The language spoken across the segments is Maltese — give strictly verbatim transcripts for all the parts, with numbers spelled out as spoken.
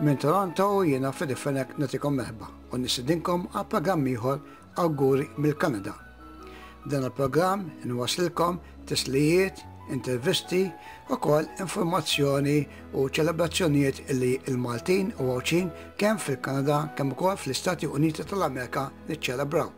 Minn Toronto jiena Freddie Fenech nagħtikom merħba u nistedinkom għal programm ieħor Awguri mill-Kanada. Dan il-programm inwaslilkom tislijiet, intervisti u kol informazzjoni u ċelebrazzjonijiet illi il-Maltin u Għawdxin kemm fil-Kanada kemm ukoll fl-Istati Uniti tal-Amerika niċċelebraw.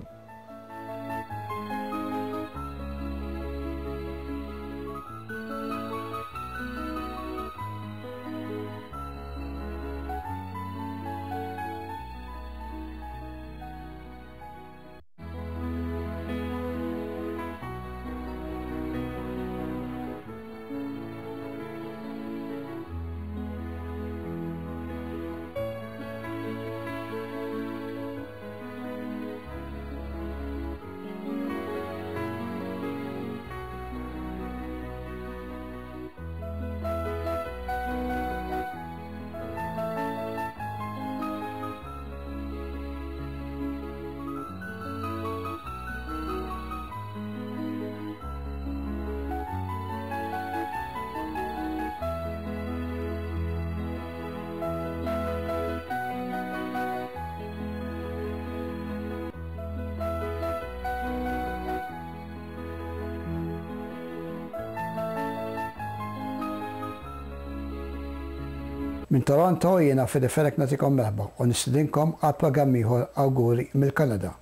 Minn Toronto jiena Freddie Fenech nagħtikom merħba u nistedinkom għal programm ieħor Awguri mill-Kanada.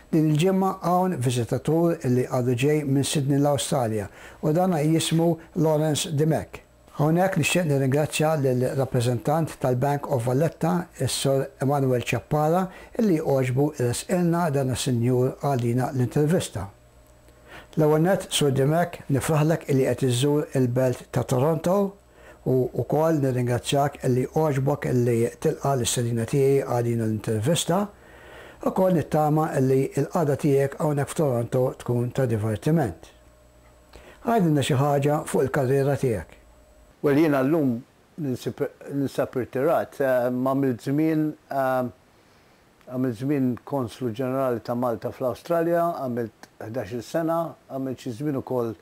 Din il-ġimgħa hawn viżitatur illi għadu ġej minn Sydney l-Awstralja u dan jismu Lawrence Dimech. Hawnhekk nixtieq nirringrazzja lill-rappreżentant tal-Bank of Valletta, is-Sur Emanuel Ciappara, illi għoġbu jressqilna dan is-sinjur għalina l-intervista. L-ewwel nett, Sur Dimech, nifraħlek illi qed iżżur il-belt ta' Toronto u wkoll nirringrazzjak illi għoġbok illi tilqa' l-istedina tiegħi għalina l-intervista. Ukoll nittama illi l-qagħda tiegħek hawnhekk f'Toronto tkun ta' divertiment. Għidilna xi ħaġa fuq il-karriera tiegħek. Well, jiena llum ninsab irtirat, għamilt żmien għamilt żmien konslu ġenerali ta' Malta fl-Awstralja, għamilt ħdax-il sena, għamilt xi żmien ukoll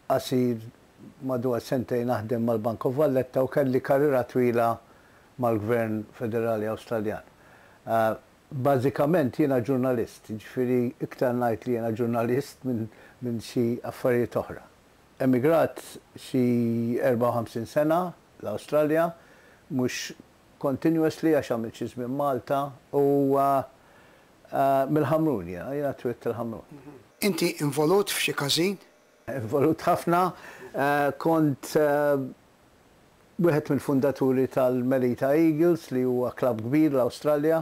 qasir madwar sentejn naħdem mal-Bank of Valletta u kelli karriera twila mal-Gvern Federali Awstraljan. Bażikament jiena ġurnalist, jiġifieri iktar ngħid li jiena ġurnalist minn xi affarijiet oħra. Emigrat xi erbgħa u ħamsin sena l-Awstralja, mhux continuously għax għamilt xi żmien Malta u mill-Ħamrun jiena, jiena twilt il-Ħamrun. Inti involut f'xi każin? Involut ħafna, kont wieħed mill-fundaturi tal-Melita Eagles li huwa klabb kbir l-Awstralja,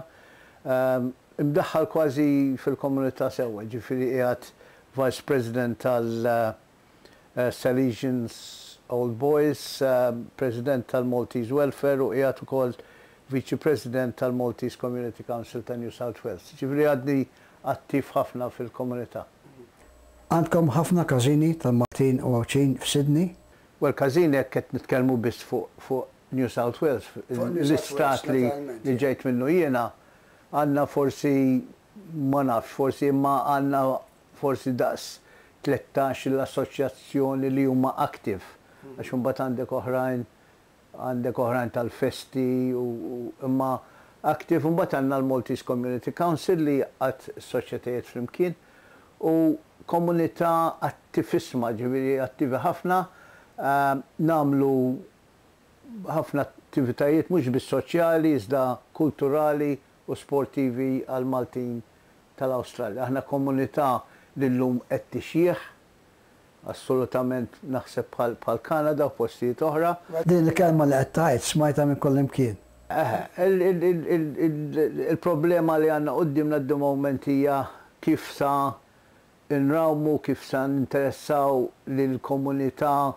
imdaħħal kważi fil-komunità sewwa, ġifieri qiegħed Vice President tal-Salesians Old Boys, President tal-Maltese Welfare u qiegħed ukoll Vice President tal-Maltese Community Council ta' New South Wales. Ġifieri għadni attiv ħafna fil-komunità. Għandkom ħafna każini tal-Maltin u Għawdxin f'Sydney? Well, każini jekk qed nitkellmu biss fuq New South Wales, l-istat li ġejt minnu jiena, għandna forsi, ma nafx, forsi imma għandna forsi daqs tlettax l-assoċjazzjoni li huma active. Għax imbagħad għandek oħrajn, għandek oħrajn tal-festi u imma active, imbagħad għandna l-Maltese Community Council li għad soċjetajiet flimkien u komunità attivissma, ġifieri attivi ħafna, nagħmlu ħafna attivitajiet mhux biss soċjali, iżda kulturali u sportivi għal Maltin tal-Awstralja. Aħna komunità li llum qed tixjih, assolutament naħseb bħal Kanada u postijiet oħra. Din il-kelma li qed tgħid smajtha minn kull imkien. Il-problema li għandna quddiemna d moment hija kif sa nrawmu, kif sa ninteressaw lill-komunità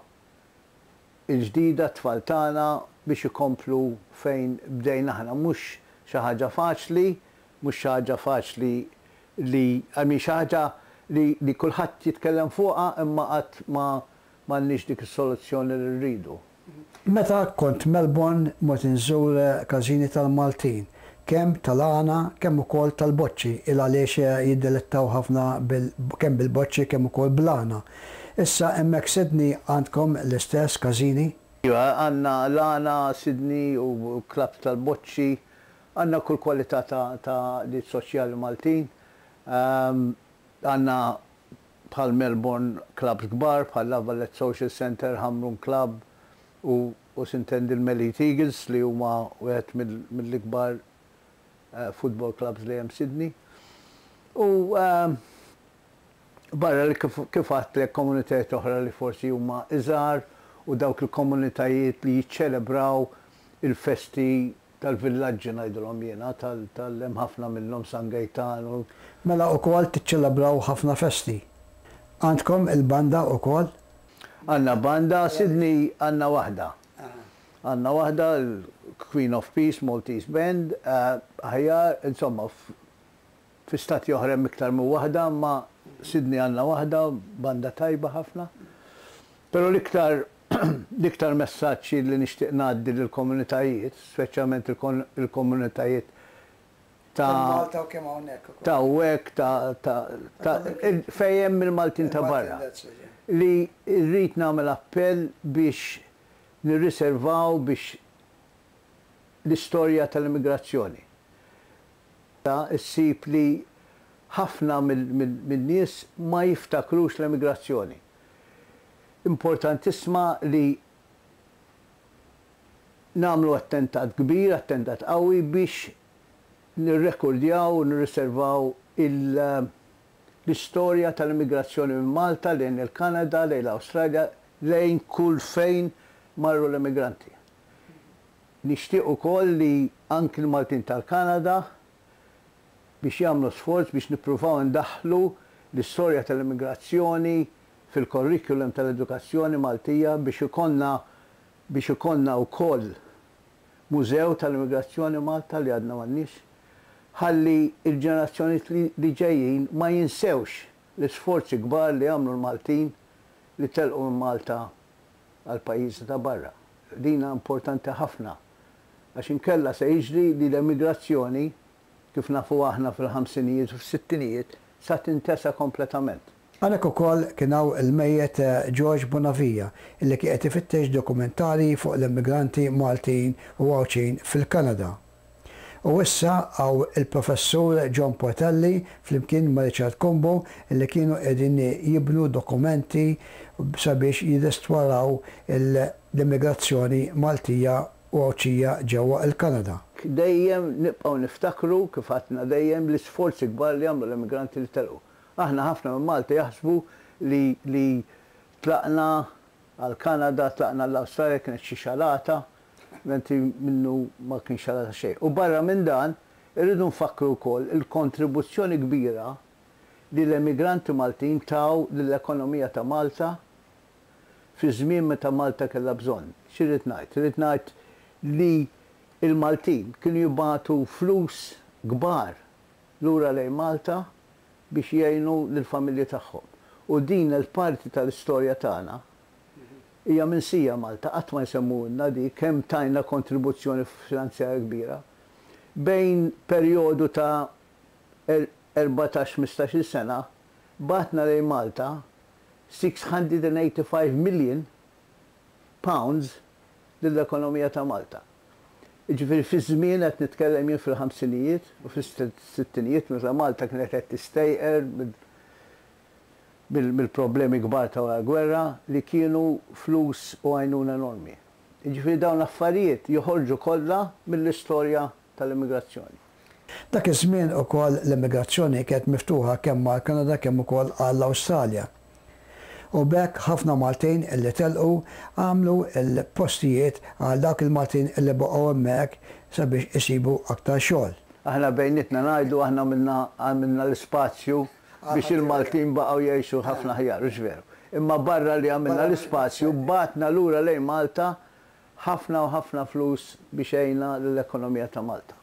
il-ġdida t-tfal tagħna biex ikomplu fejn bdejna aħna. Mhux xi ħaġa faċli, mhux xi ħaġa faċli li, I mean, xi ħaġa li kulħadd jitkellem fuqha imma qatt ma m'għandniex dik is-soluzzjoni li rridu. Meta kont Melbourne mort inżur każini tal-Maltin, kemm tal-għana, kemm ukoll tal-boċċi, il għaliex jiddelettaw ħafna kemm bil-boċċi kemm ukoll bl-għana. Issa hemmhekk Sydney għandkom l-istess każini? Iva, għandna l-Għana, Sydney u klabb tal-boċċi, għandna kull kwalità ta' ta' soċjali Maltin. Għandna bħal Melbourne clubs kbar, bħal La Valette Social Centre, Hamrun Club u u sintendi l-Melite Eagles li huma wieħed mill-ikbar football clubs li hemm Sydney. U barra li kif għedtlek komunitajiet oħra li forsi huma iżgħar u dawk il-komunitajiet li jiċċelebraw il-festi tal-villaġġi ngħidulhom jiena, tal-hemm ħafna minnhom San Gejtan. Mela wkoll tiċċelebraw ħafna festi. Għandkom il-banda wkoll? Għandna banda, Sydney għandna waħda. Għandna waħda, Queen of Peace, Maltese Band, aħjar, insomma, fi stati oħra hemm iktar minn waħda, ma Sydney għandna waħda, banda tajba ħafna. Però l-iktar l-iktar messaġġi li nixtieq ngħaddi lill-komunitajiet, speċjalment il-komunitajiet ta' Malta u kemm hawnhekk ukoll. Ta' hekk ta' ta' fejn hemm il-Maltin ta' barra. Li rrid nagħmel appell biex nirriservaw biex l-istorja tal-immigrazzjoni. Issib li ħafna mill-nies ma jiftakrux l-immigrazzjoni. Importantissima li nagħmlu attentat kbir, attentat qawwi biex nirrekordjaw u nirriservaw l-istorja tal-immigrazzjoni minn Malta lejn il-Kanada, lejn l-Awstralja, lejn kull fejn marru l-immigranti. Nixtieq ukoll li anki l-Maltin tal-Kanada biex jagħmlu sforz biex nippruvaw ndaħħlu l-istorja tal-immigrazzjoni fil-curriculum tal-edukazzjoni Maltija biex ikollna biex ikollna wkoll mużew tal-immigrazzjoni Malta li għadna m'għandniex. Ħalli il-ġenerazzjoni li ġejjin ma jinsewx l-isforzi kbar li għamlu l-Maltin li telqu minn Malta għal pajjiżi ta' barra. Dina importanti ħafna għax inkella se jiġri li l-emigrazzjoni kif nafu aħna fil-ħamsinijiet u fis-sittinijiet sa tintesa kompletament. Għalhekk ukoll kien hawn il-mejjet George Bonavia illi kien qed ifittex dokumentari fuq l-immigranti Maltin u Għawdxin fil-Kanada. U issa hawn il-professur John Portelli flimkien ma' Richard Cumbo illi kienu qegħdin jibnu dokumenti sabiex jirrestawraw l-immigrazzjoni Maltija u Għawdxija ġewwa il-Kanada. Dejjem nibqgħu niftakru kif għedna dejjem l-isforzi kbar li għamlu l-immigranti li telqu. Aħna ħafna minn Malta jaħsbu li, li tlaqna għal-Kanada, tlaqna l-Awstralja kienet xi xalata, mentri minnu ma kien xalata xejn. U barra minn dan, irridu nfakru wkoll il-kontribuzzjoni kbira li l-emigranti Maltin taw lill-ekonomija ta' Malta fi żmien meta Malta kellha bżonn. X'irrid ngħid? Irrid ngħid li il-Maltin kienu jibagħtu flus kbar lura lejn Malta biex jgħinu lill-familji tagħhom. U din il-parti tal-istorja tagħna hija minsija Malta, qatt ma jsemmulna di kemm tajna kontribuzzjoni finanzjarja kbira. Bejn perjodu ta' erbatax ħmistax-il sena, bagħtna lejn Malta six hundred and eighty-five million pounds lill-ekonomija ta' Malta. Jiġifieri fi żmien qed nitkellem jien fil-ħamsinijiet u fis-sittinijiet meta Malta kienet qed tistejqer mill-problemi kbar ta' wara gwerra li kienu flus u għajnuna enormi. Jiġifieri dawn l-affarijiet joħorġu kollha mill-istorja tal-immigrazzjoni. Dak iż-żmien ukoll l-immigrazzjoni kienet miftuħa kemm mal-Kanada kemm ukoll għall-Awstralja. U b'hekk ħafna Maltin illi telqu għamlu l-postijiet għal dawk il-Maltin illi baqgħu hemmhekk sabiex isibu aktar xogħol. Aħna bejnietna ngħidu aħna għamilna l-ispazju biex il-Maltin baqgħu jgħixu ħafna aħjar, hux veru. Imma barra li għamilna l-ispazju, bagħtna lura lejn Malta ħafna u ħafna flus biex għejna l-ekonomija ta' Malta.